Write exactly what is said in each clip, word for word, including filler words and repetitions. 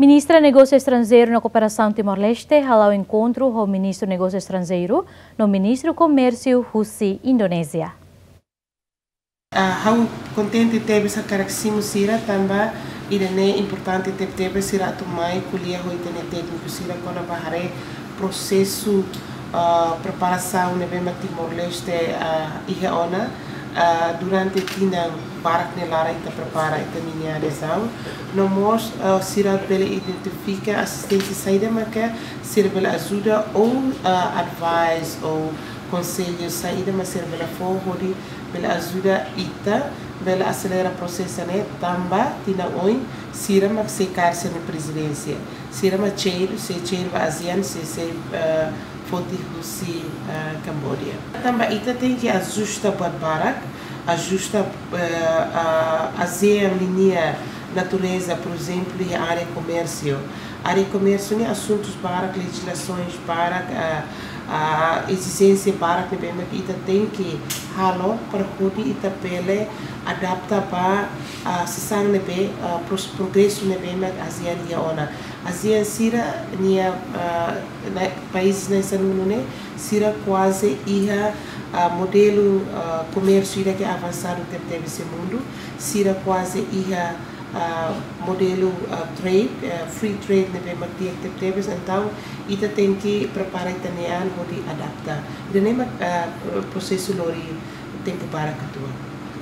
Ministra Negósiu Estranjeiru no Kooperasaun Timor-Leste hala'o enkontru ho Ministru Negósiu Estranjeiru no Ministru Komérsiu husi Indonézia. Ah, ha'u kontente tebes hakarak simu sira tanba ida-ne'e importante tebetebes sira atu mai ko'alia ho ita-nia tékniku sira kona-ba haree prosesu, ah, preparasaun ne'ebé mak Timor-Leste, ah, iha ona, ah, durante tinan barak nia laran ita prepara ita-nia adezaun. No mós, ah, sira bele identifika asisténsia saida maka sira bele ajuda ou, ah, advice ou konsellu saida mak sira bele fó hodi bele ajuda ita bele aselera prosesu ne'e tanba tinan oin sira mak sei kaer sira-nia prezidénsia. Sira mak chefe, sei chefe ba ASEAN, sei, sei, eh, foti husi, eh, Cambodia. Tanba ita tenke ajusta buat barak, ajusta, eh, ah, ASEAN ninia natureza, por ezemplu, iha área komérsiu. Área komérsiu ne'e asuntus barak, lejizlasoens barak, ah, ah, ezijénsia barak ne'ebé mak ita tenke halo para hodi ita bele adapta ba, ah, sasán ne'ebé, ah, pros-, progresu ne'ebé mak ASEAN iha ona. ASEAN sira-nia, ah, na-, país na'in-sanulu ne'e, sira kuaze iha, ah, modelu, ah, komérsiu ida ke avansadu tebetebes iha mundu, sira kuaze iha, ah, modelu, ah, trade, ah, free trade ne'ebé mak di'ak tebetebes, entaun ita tenke prepara ita-nia an hodi adapta. Ida-ne'e mak, ah, prosesu lori tempu barak atu.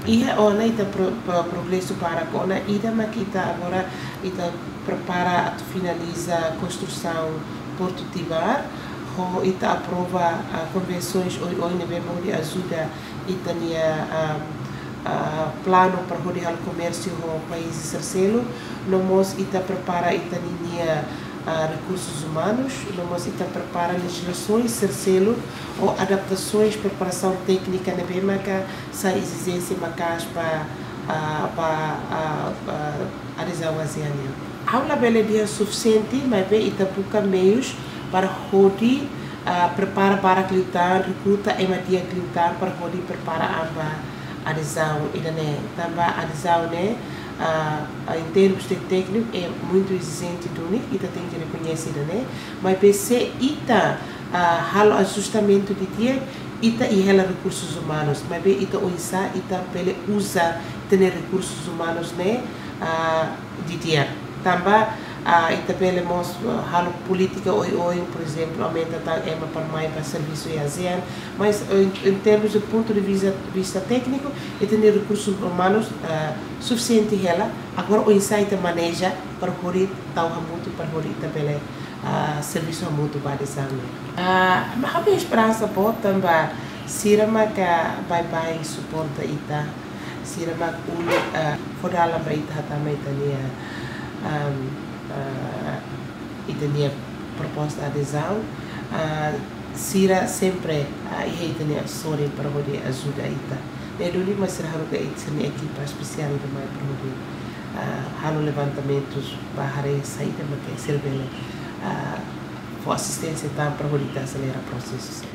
Iha ona ita pro-, pro-, progresu barak ona, ida mak ita agora ita prepara atu finaliza konstrusaun Portu Tibar, ho ita aprova, ah, konvensoens oioin ne'ebé mak hodi ajuda ita-nia, ah, ah, planu para hodi halo komérsiu ho país terseru, no mós ita prepara ita-nia, ah, rekursus umanus, no mós ita prepara lejizlasoens terseru ou adaptasoens preparasaun téknika ne'ebé maka sai ezijénsia maka'as ba, ah, ba, ah, ah, adezaun ASEAN nian. Ha'u labele dehan sufisiente, maibé ita buka meius para hodi, ah, prepara barak liután, rekruta ema di'ak liután para hodi prepara an ba adezaun ida-ne'e. Tanba adezaun ne'e, ah, ah, em termos de tékniku, é muito exigente duni, ita tenke rekoñese ida-ne'e. Maibé se ita, ah, halo ajustamentu didi'ak, ita iha hela rekursus umanus, maibé ita oinsá ita bele uza ita-nia rekursus umanus ne'e, ah, didi'ak. Tanba, ah, ita bele mós, ah, halo polítika oioin, por ezemplu, aumenta tan ema para mai ba servisu iha ASEAN, mas, eh, em, em termos de ponto de vista, vista tékniku, ita-nia rekursus umanus, ah, sufisiente hela, agora oinsá ita maneja para hodi tau hamutuk, para hodi ita bele, ah, servisu hamutuk ba adezaun ne'e. Ah, mas ha'u-nia esperansa boot tanba sira maka baibain suporta ita. Sira mak uluk, ah, fó dalan ba ita hatama ita-nia, am, ah, ita-nia proposta adezaun. Ah, sira sempre, ah, iha ita-nia sorin para hodi ajuda ita. Ne'e duni mak sira haruka ita sira-nia ekipa espesiál ida mai para hodi, ah, halo levantamentus ba haree saida mak sira bele, ah, fó asisténsia tan para hodi ita aselera prosesu sira.